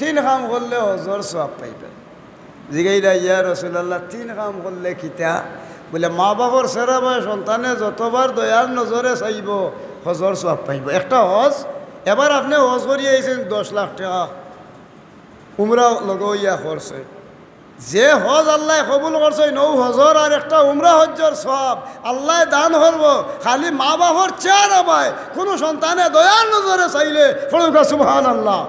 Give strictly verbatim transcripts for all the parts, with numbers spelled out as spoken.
তিন কাম করলে হজর সওয়াব পাইবা। জিগাইলা, "ইয়া রাসুলাল্লাহ, তিন কাম করলে কিতা?" বলে, "মা বাপর ছেড়া বায় সন্তানে যতবার দয়ার নজরে চাইবো, হজর সওয়াব পাইবো।" একটা হজ, এবার আপনে হজ করিয়া আইছইন দশ লাখ টেকা, উমরা লগে অইয়া খরচ অইল। যে হজ আল্লায় কবুল করছইন, অউ হজর আর একটা উমরা হজ্জর সওয়াব আল্লায় দান করবো। খালি মা বাপর চেহারা বায় কুনু সন্তানে দয়ার নজরে চাইলে, পড়ুক্কা সুবহানাল্লাহ।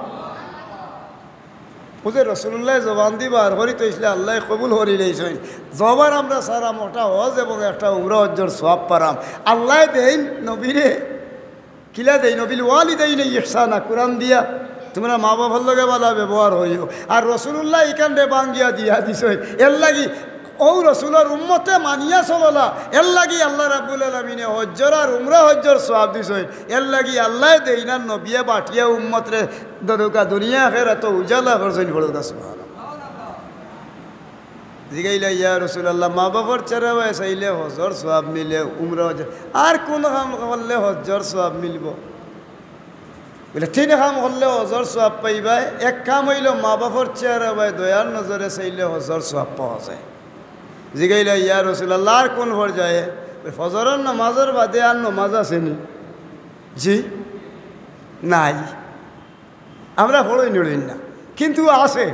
অউ যে রাসুলুল্লায় জবান দি বার করি থইছলা, আল্লায় কবুল করি লইছইন। জবার আমরা সারা মোটা হজ এবং একটা উমরা হজ্জর সওয়াব পাইরাম। আল্লায় দেইন নবীরে, কিলা দেইন? "ওয়াবিল ওয়ালিদাইনি ইহসানা", কুরআন দিয়া, "তুমরা মা বাপর লগে ভালা ব্যবহার করিও।" আর রাসুলুল্লায় ইখানরে ভাঙ্গিয়া দিয়া দিছইন। এরলাগি অউ রাসুলর উম্মতে মানিয়া চললা, এরলাগি আল্লাহ রাব্বুল আলামিনে হজ্জর আর উমরা হজ্জর সওয়াব দিছইন। এরলাগি আল্লায় দেইন আর নবিয়ে বাটিয়া উম্মতরে দরুকা দুনিয়া আখেরাতো উজালা করছইন, পড়ুক্কা সুবহানাল্লাহ। জিগাইলা, "ইয়া রাসুলাল্লাহ, মা বাপর চেহারা বায় চাইলে হজর সওয়াব মিলে, উমরা হজ্জর, আর কুন কাম করলে হজ্জর সওয়াব মিলবো?" বলে, "তিন কাম করলে হজর সওয়াব পাইবায়। এক কাম অইলো মা বাপর চেহারা বায় দয়ার নজরে চাইলে হজর সওয়াব পাওয়া যায়।" জিগাইলা, "ইয়া রাসুলাল্লাহ, আর কুন পর্যায়ে?" বলে, "ফজরর নমাজর বাদে আর নমাজ আছে নি?" "জি, নাই।" আমরা পড়ইন উড়ইন না, কিন্তু আছে।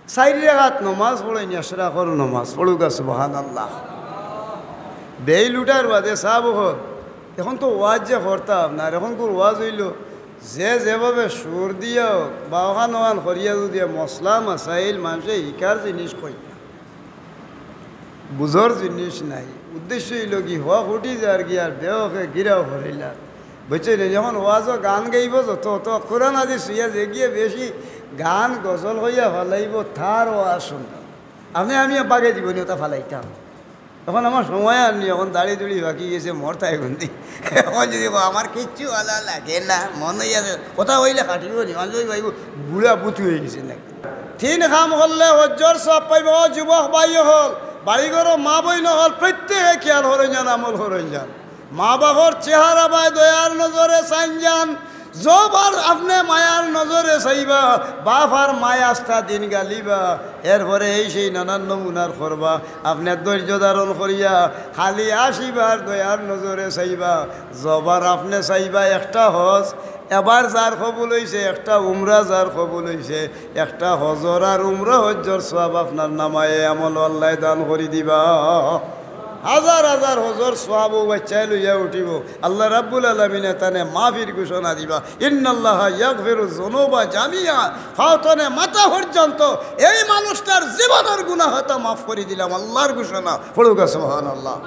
চাইর রাকাত নমাজ পড়ইন, এশরাকর নমাজ, পড়ুক্কা সুবহানাল্লাহ। বেইল উঠার বাদে সাব অকল, এখন তো ওয়াজ যে করতাম না, আর এখনকুর ওয়াজ অইলো, যে যেভাবে সুর দিয়া অউক বা অখান অখান করিয়া যুদি মসলা মাসাইল মানষে হিকার জিনিস কইতা, বুঝর জিনিস নাই। উদ্দেশ্য অইলো কি, হক উঠি যার গিয়া আর বেহকে গিরাও করিলার। বুঝছইন নি? যখন ওয়াজো গান গাইবো যত, অত কুরআন হাদিস ছুইয়া যেগিয়ে বেশি গান গজল কইয়া ফালাইবো, তার ওয়াজ হুনতাম। আপনে আমি বাগে জীবনে অতা ফালাইতাম। এখন আমার সময় আর নি, এখন দাড়ি দুড়ি পাকি গেছে, মরতায় কুনদিন। এখন যুদি কও, "আমার কিচ্ছু ভালা লাগে না", মন অইয়া আছে, কথা কইলে কাটিবো নি, মানুষ ভাইবো, বুড়া বুতু অইগেছে নাকি। তিন কাম করলে হজ্জর সওয়াব পাইবা। ও যুবক ভাই অকল, বাড়িঘরো মা বইন অকল, প্রত্যেকে খেয়াল করইন যান, আমল করইন যান। মা বাপর চেহারা বায় দয়ার নজরে চাইন যান। জবার আপনে মায়ার নজরে চাইবা, বাপ আর মায় আস্তা দিন গালিবা, এরপরে এই সেই নানান নমুনার করবা। আপনে ধৈর্য ধারণ করিয়া খালি আশিবার দয়ার নজরে চাইবা। জবার আপনে চাইবা একটা হজ, এবার যার কবুল অইছে, একটা উমরা যার কবুল অইছে, একটা হজর আর উমরা হজ্জর সওয়াব আপনার নামায়ে আমলো আল্লায় দান করি দিবা। হাজার হাজার হজর সওয়াব অউ বাইচ্চায় লইয়া উঠিবো। আল্লাহ রাব্বুল আলামিনে তানে মাফির ঘোষণা দিবা, "ইন্নাল্লাহা ইয়াগফিরুয যুনুবা জামিআ।" পাও তনে মাথা পর্যন্ত এই মানুষটার জীবনর গুনাহ অতা মাফ করি দিলাম, আল্লাহর ঘোষণা। পড়ুক্কা সুবহানাল্লাহ।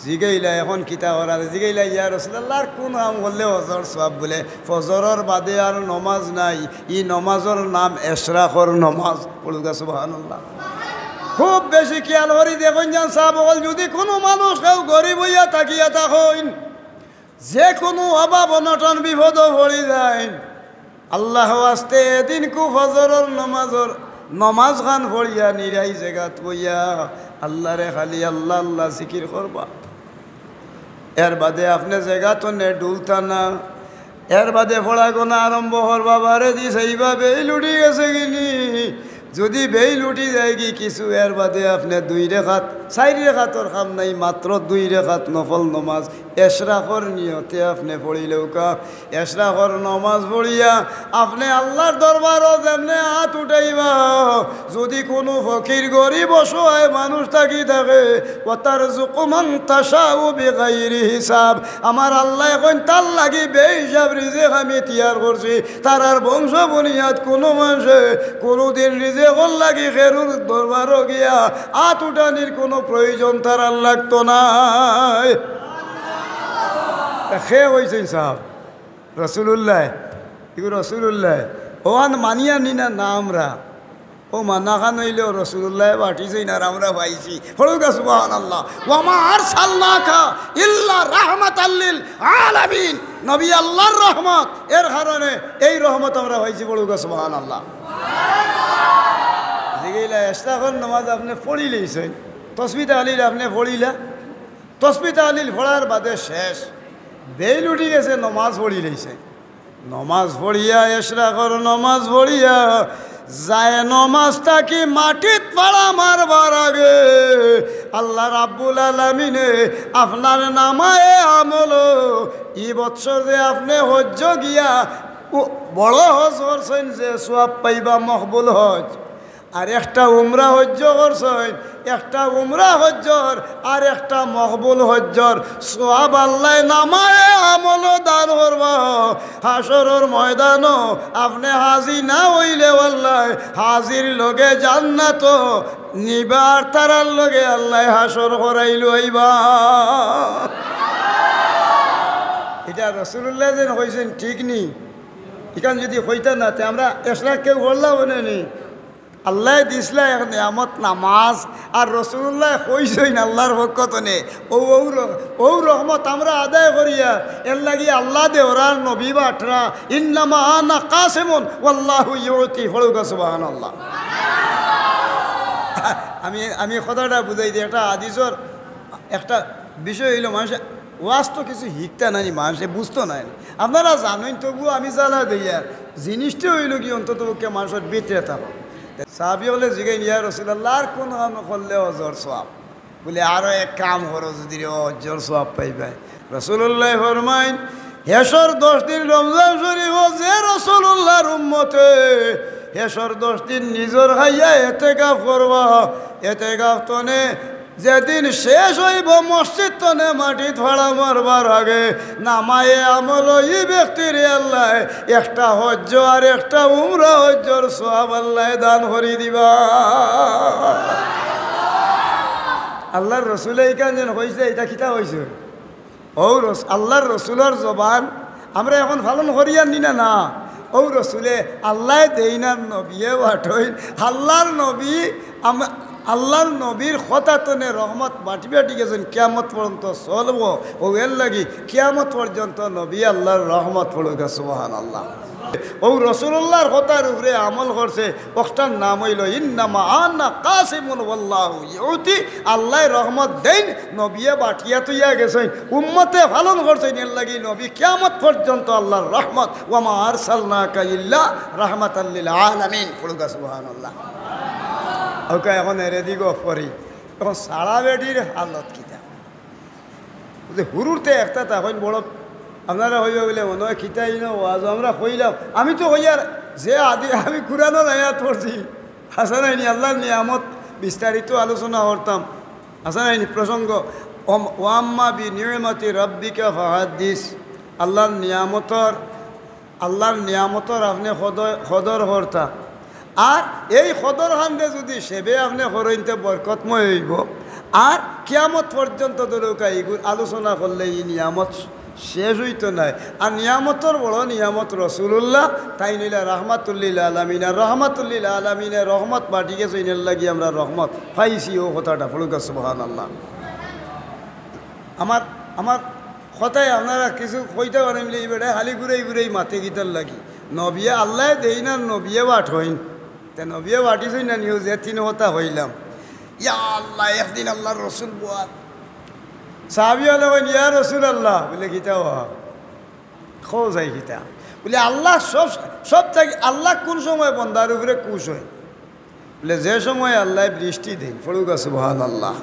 জিগাইলা, "এখন কিতা করা?" জিগাইলা, "ইয়া রাসুলাল্লাহ, আর কুন কাম করলে হজর সওয়াব?" বলে, "ফজরর বাদে আর নমাজ নাই, ই নমাজর নাম এশরাকর নমাজ।" পড়ুক্কা সুবহানাল্লাহ। খুব বেশি খেয়াল করি দেখইন যান সাব অকল, যুদি কুনু মানুষ কেউ গরিব অইয়া থাকিয়া থাকইন, যে কুনু অভাব অনটন বিপদো পড়ি যাইন, আল্লাহ ওয়াস্তে এদিনকু ফজরর নমাজর, নমাজ খান পড়িয়া নিরাই জেগাত বইয়া আল্লাহরে খালি আল্লাহ আল্লাহ জিকির করবা। এর বাদে আপনে জেগাত তনে ডুলতা না, এর বাদে পড়া গোনা আরম্ভ করবা, বারে দি চাইবা বেইল উঠি গেছে গি নি। যুদি বেইল উঠি যায় গি কিছু, এর বাদে আপনে দুই রেখাত, চাইর রেখাতর কাম নাই, মাত্র দুই রেখাত নফল নমাজ এশরাকর নিয়তে আপনে পড়িলউক্কা। এশরাকর নমাজ পড়িয়া আপনে আল্লাহর দরবারো যেমনে আত উঠাইবা, যুদি কুনু ফকির গরিব অসহায় মানুষ থাকি থাকে, "ওয়াতারযুকু মান তাশাউ বিগাইরি হিসাব", আমার আল্লায় কইন, "তার লাগি বেহিসাব রিজিক আমি তৈয়ার করছি।" তারার বংশ বুনিয়াদ কুনু মানষে কুনুদিন রিজিকর লাগি কেউর দরবারো গিয়া আত উঠানির কুনু প্রয়োজন তারার লাগতো নায়। তা কে কইছইন সাব? রাসুলুল্লায়। ইগু রাসুলুল্লায়। অখান মানিয়া নি না, না আমরা। অউ মানাখান অইলেও রাসুলুল্লায় বাটিছইন আর আমরা পাইছি। পড়ুক্কা সুবহানাল্লাহ। "ওয়া মা আরসালনাকা ইল্লা রাহমাতাল লিল আলামিন।" নবী আল্লাহর রহমত, এর কারণে এই রহমত আমরা পাইছি। পড়ুক্কা সুবহানাল্লাহ। জিগাইলা, "এশরাকর নমাজ আপনে পড়িলাইছইন, তসবি তাহলিল আপনে পড়িলা?" তসবি তাহলিল পড়ার বাদে শেষ, বেইল উঠি গেছে, নমাজ পড়িলাইছইন। নমাজ পড়িয়া, এশরাকর নমাজ পড়িয়া, যায় নমাজ থাকি মাটিত ফাড়া মারবার আগে আল্লাহ রাব্বুল আলামিনে আপনার নামায়ে আমল, ই বছর যে আপনে হজ্জ গিয়া উ-, বড় হজ করছইন, যে সওয়াব পাইবা মকবুল হজ, আর একটা উমরা হজ্জ করছইন, একটা উমরা হজ্জর আর একটা মকবুল হজ্জর সওয়াব আল্লায় নামায়ে আমল দান করবা। হাশরর ময়দানো আপনে হাজি না অইলেও আল্লায় হাজির লগে জান্নাতো নিবা, আর তারার লগে আল্লায় হাশর করাইল অইবা। ইটা রাসুলুল্লায় যেন কইছইন, ঠিক নি? ইখান যুদি কইতা না, তে আমরা এশরাক কেউ করলাম অনে নি? আল্লায় দিছলা এক নিয়ামত নামাজ, আর রাসুলুল্লায় কইছইন আল্লার পক্ষ তনে, অউ, অউ র-, অউ রহমত আমরা আদায় করিয়ার, এরলাগি আল্লা দেওরার নবী বাটরা, "ইন্নামা আনা কাসিমুন ওয়াল্লাহু ইউতি", পড়ুক্কা সুবহানাল্লাহ। আমি, আমি কথাটা বুঝাই দিই, একটা হাদিসর একটা বিষয় অইলো, মানষে ওয়াজ তো কিছু হিকতা নায় নি, মানষে বুঝতো নায় নি। আপনারা জানইন, তবুও আমি জ্বালা দেইয়ার, জিনিসটা অইলো কি, অন্তত পক্ষে মানষর ভিতরে থাকো। সাহাবি অকলে জিগাইন, "ইয়া রাসুলাল্লাহ, আর কুন কাম করলে হজর সওয়াব?" বুলে, "আরো এক কাম করো, যুদি রে হজর সওয়াব পাইবায়।" রাসুলুল্লায় ফরমাইন, হেশর দশ দিন রমজান শরিফো যে রাসুলুল্লার উম্মতে হেশর দশ দিন নিজর খাইয়া এতেকাফ করবা, এতেকাফ তনে যেদিন শেষ অইবো, মসজিদ তনে মাটিত ফাড়া মারবার আগে নামায়ে আমল ই ব্যক্তিরে আল্লায় একটা হজ্জ আর একটা উমরা হজ্জর সওয়াব আল্লায় দান করি দিবা। আল্লার রসুলে ইখান যেন কইছে, ইটা কিতা কইছে? অউ রস-, আল্লার রসুলর জবান আমরা এখন পালন করিয়ার নি না, না। অউ রসুলে আল্লায় দেইন আর নবিয়ে বাটইন। আল্লার নবী, আম-, আল্লার নবীর কথা তনে রহমত বাটি বাটি গেছইন, কিয়ামত পর্যন্ত চলবো। অউ এরলাগি কিয়ামত পর্যন্ত নবী আল্লার রহমত পড়ুক্কা, সুবহানাল্লাহ। অউ রাসুলুল্লার কথার উপরে আমল করছে, অকটার নাম অইলো ইন্নামা আনা কাসিমুন ওয়াল্লাহু ইউতি। আল্লায় রহমত দেইন, নবিয়ে বাটিয়া থইয়া গেছইন, উম্মতে পালন করছইন, এরলাগি নবী কিয়ামত পর্যন্ত আল্লার রহমত। ওয়ামা আরসালনাকা ইল্লা রাহমাতাল লিল আলামিন। পড়ুক্কা সুবহানাল্লাহ। অউক্কা, এখন এরেদি গফ করি, এখন সারা বেটির হালত কিতা? যে হুরুতে একটা তখন বড়, আপনারা কইবা বুলে, "মনো অয় কিতা ইনো ওয়াজ আমরা কইলাম।" আমি তো কইয়ার যে আদি, আমি কুরআনর আয়াত পড়ছি, হাছা নায় নি? আল্লার নিয়ামত বিস্তারিত আলোচনা করতাম, হাছা নায় নি? প্রসঙ্গ, ওম-, "ওয়াম্মা বি নি'মাতি রাব্বিকা ফাহাদ্দিস", আল্লার নিয়ামতর আল্লার নিয়ামতর আপনে কদর, কদর করতা। আর এই কদর খানরে যুদি সেবে আপনে করইন তে বরকতময় অইবো। আর কিয়ামত পর্যন্ত ধরুক্কা ইগুর আলোচনা করলে ই নিয়ামত শেষ অইতো নায়। আর নিয়ামতর বড় নিয়ামত রাসুলুল্লাহ, তাইন অইলা রাহমাতুল লিল আলামিন। আর রাহমাতুল লিল আলামিনে রহমত বাটি গেছইন, এরলাগি আমরা রহমত পাইছি। অউ কথাটা পড়ুক্কা সুবহানাল্লাহ। আমার, আমার কথায় আপনারা কিছু কইতা পারইন বুলে, ই বেটায় খালি ঘুরাই ঘুরাই মাতে কিতার লাগি? নবিয়ে আল্লায় দেইন আর নবিয়ে বাটইন। তে নবিয়ে বাটিছইন না নি? অউ যে তিন কথা কইলাম। ইয়া আল্লাহ, একদিন আল্লার রসুল বওয়াত। সাহাবি অকলে কইন, "ইয়া রাসুলাল্লাহ", বুলে, "কিতা বা? কও চাই কিতা?" বুলে, "আল্লাহ সব, সব থাকি আল্লাহ কুন সময় বন্দার উপরে খুশ অইন?" বুলে, "যে সময় আল্লায় বৃষ্টি দেইন।" পড়ুক্কা সুবহানাল্লাহ।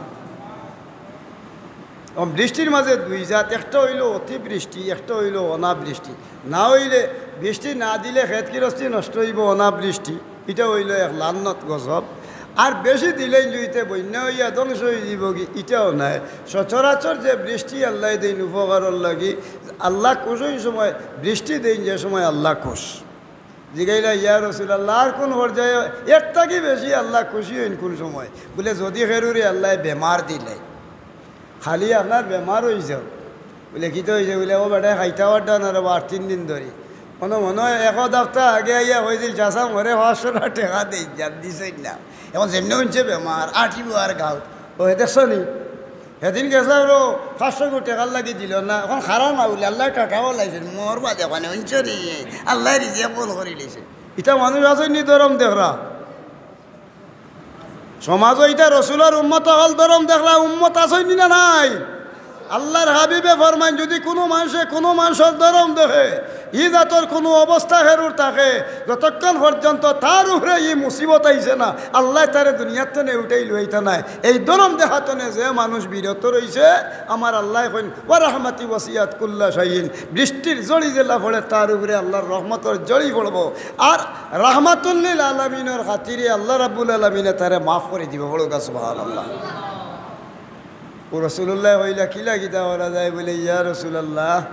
অউ বৃষ্টির মাঝে দুই জাত, একটা অইলো অতিবৃষ্টি, একটা অইলো অনাবৃষ্টি। না অইলে, বৃষ্টি না দিলে খেত গিরস্তি নষ্ট অইবো, অনাবৃষ্টি, ইটা অইলো এক লানত গজব। আর বেশি দিলেইন যুদি তে বন্যা অইয়া ধ্বংস অইযিবোগি, ইটাও নায়। সচরাচর যে বৃষ্টি আল্লায় দেইন উপকারর লাগি, আল্লাহ খুশ অইন সময় বৃষ্টি দেইন, যে সময় আল্লাহ খুশ। জিগাইলা, "ইয়া রাসুলাল্লাহ, আর কুন পর্যায়ে এর থাকি বেশি আল্লাহ খুশি অইন কুন সময়?" বুলে, "যুদি কেউরে আল্লায় বেমার দিলে, খালি আপনার বেমার অইযায়।" বুলে, "কিতা অইযায়?" বুলে, "অউ বেটায় খাইতা পারতা না রে বা, আর তিন দিন ধরি।" মনো মনো এক হাপ্তা আগে আইয়া কইছিল, "চাচা, মোরে পাঁচশো টেকা দেইন যান, দিছইন না। এখন যেমনে হুনছে বেমার, আটিবো আর গাউত।" অউ দেখছো নি? হেদিন গেছলাম রে, পাঁচশো টেকার লাগি দিলো না, এখন খারাপ না বুলে, আল্লায় টাকা বালাইছইন, মোর বাদে অখানে হুনছো নি, আল্লায় রিজিক বন্ধ করিলাইছে। ইতা মানুষ আছইন নি ধরম দেখরা? সমাজো ইতা রসুলর উম্মত অকল ধরম দেখরা, উম্মত আছইন নি না নাই? আল্লাহর হাবিবে ফরমাইন, যুদি কুনু মানষে কুনু মানষর ধরম দেখে, ই জাতর কুনু অবস্থা হেরুর থাকে, যতক্ষণ পর্যন্ত তার উপরে ই মুসিবত আইছে না, আল্লায় তারে দুনিয়ার তনে উঠাই লইতা নায়। এই ধরম দেখাতনে যে মানুষ বিরত রইছে, আমার আল্লায় কইন, "ওয়া রাহমাতি ওয়াসিআত কুল্লা শাইইন।" বৃষ্টির জড়ি যেলা পড়ে, তার উপরে আল্লাহর রহমতর জড়ি পড়বো। আর রাহমাতুল্লিল আলামিনর খাতিরে আল্লাহ রাব্বুল আলামিনে তারে মাফ করি দিবো। পড়ুক্কা সুবহানাল্লাহ। ও রাসূলুল্লায় কইলা, "কিলা কিতা করা যায়?" বুলে, "ইয়া রাসূলুল্লাহ,"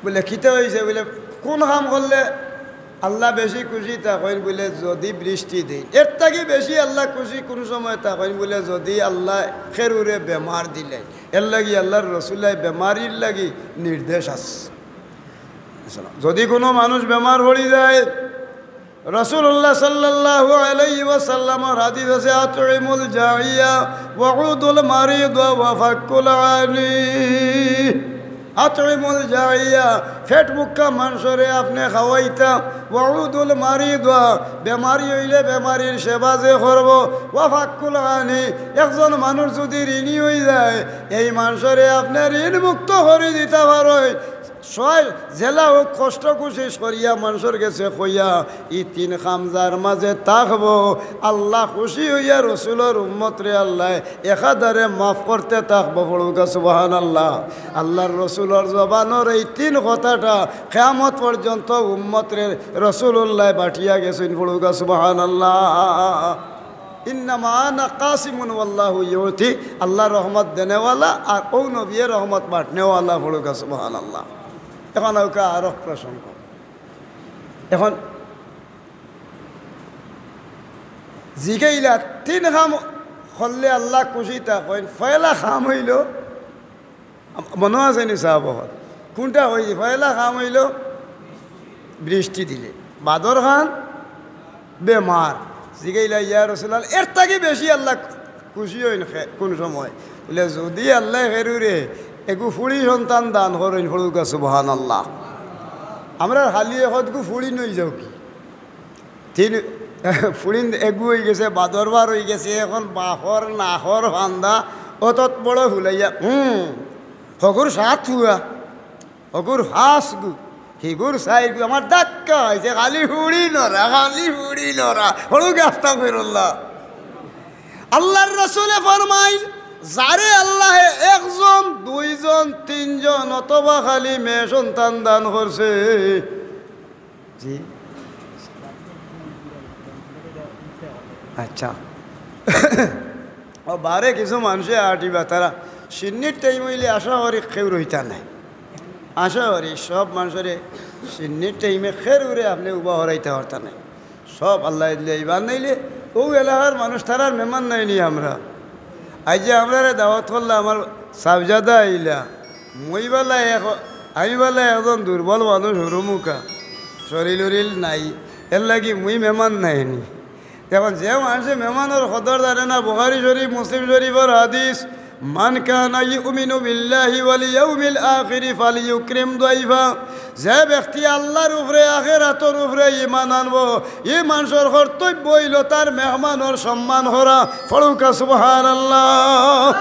বুলে, "কিতা অইছে?" বুলে, "কুন কাম করলে আল্লাহ বেশি খুশি থাকইন?" বুলে, "যুদি বৃষ্টি দেইন।" এর থাকি বেশি আল্লাহ খুশি কুন সময় থাকইন? বুলে, "যুদি আল্লায় কেউরে বেমার দিলে।" এর লাগি আল্লাহর রসুলর বেমারির লাগি নির্দেশ আছে। যুদি কুনু মানুষ বেমার পড়ি যায়, রাসূলুল্লাহ সাল্লাল্লাহু আলাইহি ওয়াসাল্লামর হাদিস আছে, "আতইমুল জাইয়া ওয়াউদুল মারিদ ওয়া ফাক্কুল আনি।" আতইমুল জাইয়া, পেট ভুক্কা মানষরে আপনে খাওয়াইতা, ওয়াউদুল মারিদ, বেমারি অইলে বেমারির সেবা যে করবো, ওয়া ফাক্কুল আনি, একজন মানুষ যুদি ঋণী অই যায়, এই মানষরে আপনে ঋণ মুক্ত করি দিতা পারইন। সয় যেলা হউক কষ্ট কুশিশ করিয়া মানষর গেছে কইয়া, ই তিন কাম যার মাজে থাকবো, আল্লাহ খুশি অইয়া রসুলর উম্মতরে আল্লায় একাধারে মাফ করতে থাকবো। পড়ুক্কা সুবহানাল্লাহ। আল্লাহর রসুলর জবানর এই তিন কথাটা কিয়ামত পর্যন্ত উম্মতরে রসুলুল্লায় বাটিয়া গেছইন। পড়ুক্কা সুবহানাল্লাহ। ইন্নামা আনা কাসিমুন ওয়াল্লাহু ইউতি, আল্লাহ রহমত দেনেওয়ালা আর অউ নবিয়ে রহমত বাটনেওয়ালা। পড়ুক্কা সুবহানাল্লাহ। এখন আউক্কা আরক প্রসঙ্গ। এখন জিগাইলা, তিন কাম করলে আল্লাহ খুশি থাকইন, পয়লা কাম অইলো, মনো আছে নি সাব অকল? কুনটা অইছে? পয়লা কাম অইলো বৃষ্টি দিলে, বাদর খান বেমার। জিগাইলা, "ইয়া রাসূলুল্লাহ, এর থাকি বেশি আল্লাহ খুশি অইন খে-, কুন সময়?" বুলে, "যুদি আল্লায় কেউরে এগু ফুড়ি সন্তান দান করইন।" পড়ুক্কা সুবহানাল্লাহ। আমরার খালি একগু ফুড়ি নই যাও কি? তিন ফুড়িন এগু অইগেছে, বাদর বার অইগেছে, এখন বাফর নাকর ফান্দা অতত বড় ফুলাইয়া, হুম, হগুর সাত ফুয়া, হগুর পাঁচ গু, হিগুর চাইর গু, আমার ধাক্কা অইছে, খালি ফুড়ি নরা, খালি ফুড়ি নরা। পড়ুক্কা আস্তাগফিরুল্লাহ। আল্লাহর রসুলে ফরমাইন, যারে আল্লাহে একজন, দুইজন, তিনজন অথবা খালি মেয়ে সন্তান দান করছে, জি। আচ্ছা। ও বারে কিছু মানষে আটিবা, তারা শিন্নির টাইম অইলে আশা করি কেউ রইতা নায়। আশা করি সব মানষরে শিন্নির টাইমে কেউরে আপনে উবা হরাইতা পারতা নায়। সব আল্লায় দিলে ইবান নাইলে, অউ এলাকার মানুষ তারার মেহমান নায় নি আমরা। আইজ যে আমরারে দাওয়াত করলা, আমার সাবজাদা আইলা, মুই বালা এক, আমি বালা একজন দুর্বল মানুষ, হুরুমুখা, শরীল উরিল নাই, এর লাগি মুই মেহমান নায় নি। এখন যে মানষে মেহমানর কদর জানে না, বুখারী শরীফ, মুসলিম শরীফর হাদিস, "মান কানা ইউমিনু বিল্লাহি ওয়াল ইয়াউমিল আখিরি ফালইউকরিম দাইফা।" যে ব্যক্তি আল্লাহর উপরে, আখেরাতর উপরে ইমান আনবো, ই মানষর কর্তব্য অইলো তার মেহমানর সম্মান করা। পড়ুক্কা সুবহানাল্লাহ।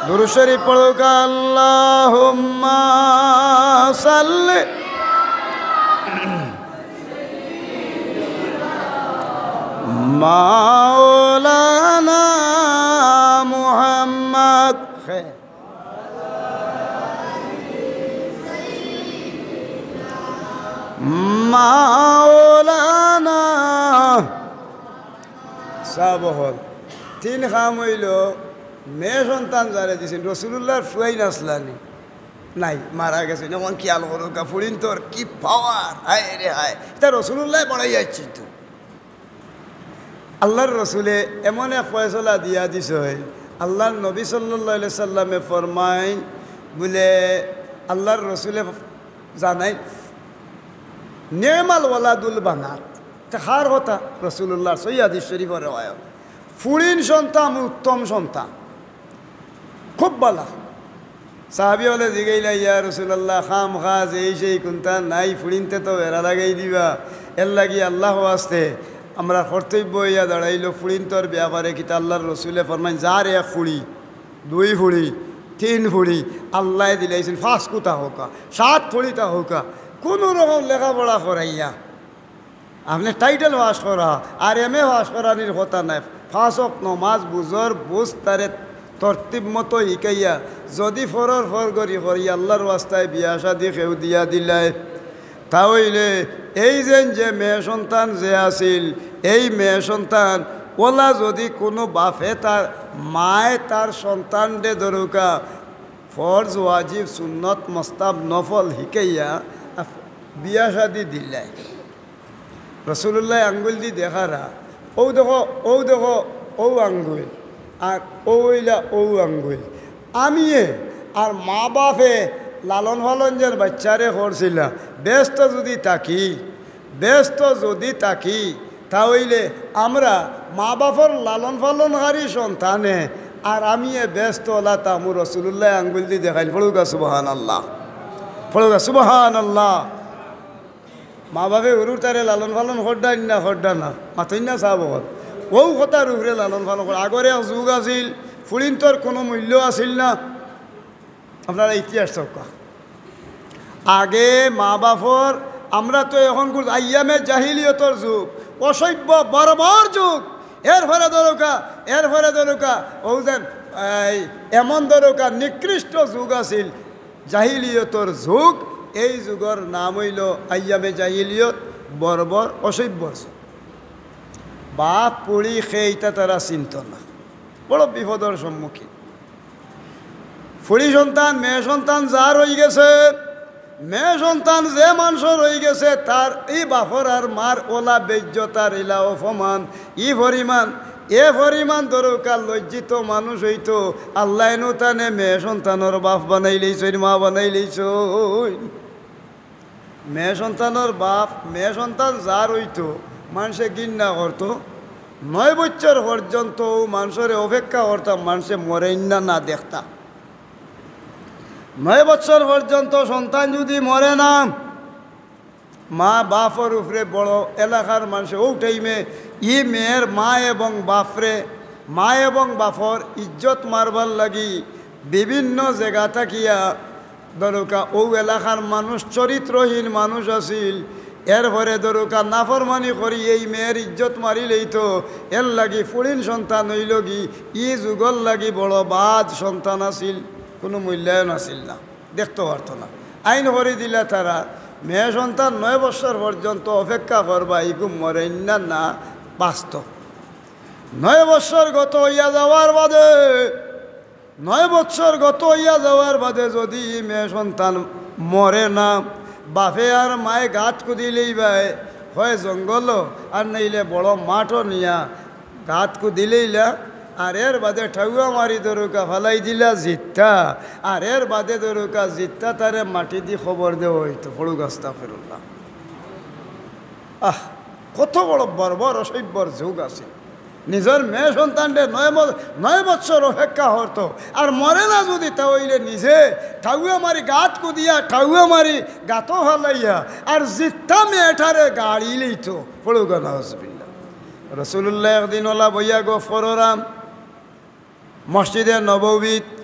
দুরূদ শরীফ পড়ুক্কা, আল্লাহুম্মা সাল্লি। মাওলানা মুহাম্মদ। মাওলানা। সাব অকল, তিন কাম অইলো, মেয়ে সন্তান যারে দিছইন, রসুলুল্লাহর ফুয়াইন আছলা নি? নাই, মারা গেছইন। এখন খিয়াল করুক্কা, ফুড়িন্তর কি পাওয়ার, হায় রে হায়, ইতা রসুলুল্লায় বাড়াইয়া আইছইন তো। আল্লাহর রসুলে এমন এক ফয়সলা দিয়া দিছইন, আল্লাহর নবী সাল্লাল্লাহু আলাইহি সাল্লামে ফরমাইন, বুলে আল্লাহর রসুলে জানাইন, "নি'মাল ওয়ালাদুল বানাত।" তে কার কথা? রসুলুল্লাহর সহিহ হাদিস শরীফর রেওয়ায়ত। ফুড়িন সন্তান উত্তম সন্তান, খুব বালা। সাহাবী অকলে জিগাইলা, "ইয়া রাসূলুল্লাহ, কাম কাজ এই সেই কুনতা নাই, ফুড়িন্তে তো বেড়া লাগাই দিবা, এর লাগি আল্লাহর ওয়াস্তে আমরার কর্তব্য অইয়া দাঁড়াইলো ফুড়িন্তর ব্যাপারে কিতা?" আল্লাহর রসুলে ফরমাইন, "যার এক ফুড়ি, দুই ফুড়ি, তিন ফুড়ি আল্লায় দিলাইছইন, পাঁচ কুতা হউকা, সাত ফুড়িতা হউকা, কুনু রকম লেখাপড়া করাইয়া আপনে টাইটেল পাস করা আর এম এ পাস করানির কথা নায়। পাঁচ ওয়াক্ত নমাজ বুঝর বুঝ তারে তরতিব মতো হিকাইয়া যুদি ফরর ফর করি করি আল্লার ওয়াস্তায় বিয়া শাদি কেউ দিয়া দিলায়, তা অইলে এই যেন যে মেয়ে সন্তান যে আছিল, এই মেয়ে সন্তান ওলা যুদি কুনু বাপে তার মায় তার সন্তানরে ধরুকা ফরজ, ওয়াজিব, সুন্নত, মুস্তাহাব, নফল হিকাইয়া আফ-, বিয়া শাদি দিলায়। রসুলুল্লায় আঙ্গুইল দি দেখারা, "অউ দেখো, অউ দেখো, অউ আঙ্গুইল, আর অউ অইলা অউ আঙ্গুইল।" আমিয়ে আর মা বাপে লালন পালন যেন বাইচ্চারে করছিলা, বেহেস্তো যুদি থাকি, বেহেস্তো যুদি থাকি, তা অইলে আমরা মা বাপর লালন পালনকারী সন্তানে আর আমিয়ে বেহেস্তো ওলা থাকমু। রসুলুল্লায় আঙ্গুইল দি দেখাইল, পড়ুকা সুবহানাল্লাহ, পড়ুকা সুবহানাল্লাহ। মা বাপে হুরুতারে লালন পালন কররা নি না, কররা না, মাতইন না সাব অকল। অউ কথার উপরে লালন পালন করা। আগর এক যুগ আছিল, ফুড়িন্তর কুনু মূল্য আছিল না। আপনারা ইতিহাস চাউক্কা। আগে মা বাপর, আমরা তো এখন কুন আইয়ামে জাহিলিয়তর যুগ, অসভ্য বর্বর যুগ। এরপরে ধরুকা, এরপরে ধরুকা, অউ যেন, এই, এমন ধরুকা নিকৃষ্ট যুগ আছিল, জাহিলিয়তর যুগ। এই যুগর নাম অইলো আইয়ামে জাহিলিয়ত, বর্বর, অসভ্যর যুগ। বাপ ফুড়ি কে ইতা তারা চিনতো না, বড় বিপদর সম্মুখীন। ফুড়ি সন্তান, মেয়ে সন্তান যার অইগেছে, মেয়ে সন্তান যে মানষর অইগেছে, তার ই বাপর আর মার ওলা বেইজ্জত আর ইলা অপমান, ই পরিমাণ, এ পরিমাণ ধরুকা লজ্জিত মানুষ অইতো, আল্লায় নু তানে মেয়ে সন্তানর বাপ বানাইলাইছইন, মা বানাইলাইছইন। মেয়ে সন্তানর বাপ, মেয়ে সন্তান যার অইতো, মানষে ঘিন্না করতো। নয় বছর পর্যন্ত অউ মানষরে অপেক্ষা করতাম, মানষে মরেইন না, না দেখতা। নয় বছর পর্যন্ত সন্তান যুদি মরে না, মা বাপর উপরে বড় এলাকার মানষে অউ টাইমে ই মেয়ের মা এবং বাপরে, মা এবং বাপর ইজ্জত মারবার লাগি বিভিন্ন জাগা থাকিয়া ধরুকা অউ এলাকার মানুষ চরিত্রহীন মানুষ আছিল, এরপরে ধরুকা নাফরমানি করি এই মেয়ের ইজ্জত মারিলাইতো, এর লাগি ফুড়িন সন্তান অইলোগি, ই যুগর লাগি বড় বাদ সন্তান আছিল, কুনু মূল্যায়ন আছিল না, দেখতো পারতো না। আইন করি দিলা তারা, মেয়ে সন্তান নয় বছর পর্যন্ত অপেক্ষা করবা, ইগু মরেইন না, না বাঁচতো। নয় বছর গত অইয়া যাওয়ার বাদে নয় বছর গত অইয়া যাওয়ার বাদে যুদি ই মেয়ে সন্তান মরে না, বাপে আর মায়ে গাত কুদিলাইবায়, হয় জঙ্গলো আর নাইলে বড় মাঠো নিয়া গাত কুদিলাইলা, আর এর বাদে ঠাউয়া মারি ধরুকা ফালাই দিলা জিত্তা, আর এর বাদে ধরুকা জিত্তা তারে মাটি দি কবর দেওয়া অইতো। পড়ুক আস্তাগফিরুল্লাহ। আহ, কত বড় বর্বর অসভ্যর যুগ আছিল। নিজর মেয়ে সন্তানরে নয় ব-, নয় বছর অপেক্ষা করতো, আর মরে না যুদি তা অইলে নিজে ঠাউয়া মারি গাত কুদিয়া, ঠাউয়া মারি গাতো ফালাইয়া, আর জিত্তা মেয়েটারে গাড়িলাইতো। পড়ুকা নাউজুবিল্লাহ। রসুলুল্লায় একদিন ওলা বইয়া গফ কররাম মসজিদে নববীত,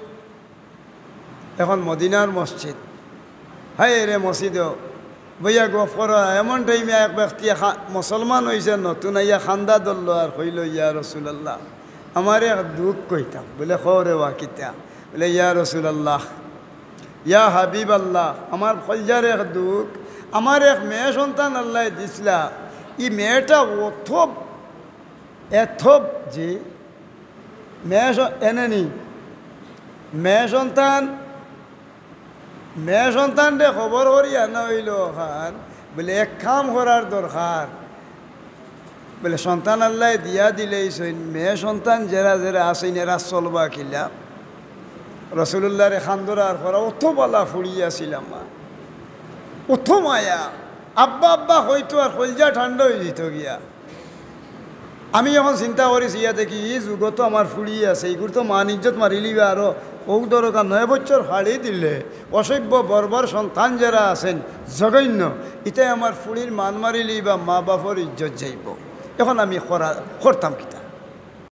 এখন মদিনার মসজিদ। হায় রে মসজিদো বইয়া গফ কররা, এমন টাইমে এক ব্যক্তি খা-, মুসলমান অইছে নতুন, আইয়া কান্দা ধরলো আর কইলো, "ইয়া রাসূলুল্লাহ, আমার এক দুখ কইতাম।" বলে, "কও রে বা কিতা?" বলে, "ইয়া রাসূলুল্লাহ, ইয়া হাবিবাল্লাহ, আমার কইলজার এক দুখ, আমার এক মেয়ে সন্তান আল্লায় দিছলা, ই মেয়েটা অত, এত, জি, মেয়ে স-, এনে নি, মেয়ে সন্তান, মেয়ে সন্তানরে খবর করি আনা অইলো অখান, বলে এক কাম করার দরকার।" বলে, "সন্তান আল্লায় দিয়া দিলাইছইন, মেয়ে সন্তান যেরা যেরা আছইন, এরা চলবা কিলা?" রসুলুল্লাহরে কান্দরার করা, "অত বালা ফুড়ি আছিল আমার, অত মায়া, আব্বা আব্বা কইতো আর কইলজা ঠান্ডা অইযিতো গিয়া।" আমি এখন চিন্তা করিছি, ইয়া দেখি, ই যুগো তো আমার ফুড়ি আছে, ইগুর তো মান ইজ্জত মারিলিবা আরো। অউ ধরুকা নয় বছর ফাড়ি দিলে অসভ্য বর্বর সন্তান যেরা আছইন, জঘন্য, ইতায় আমার ফুড়ির মান মারিলিবা, মা বাপর ইজ্জত যাইবো। এখন আমি করা-, করতাম কিতা?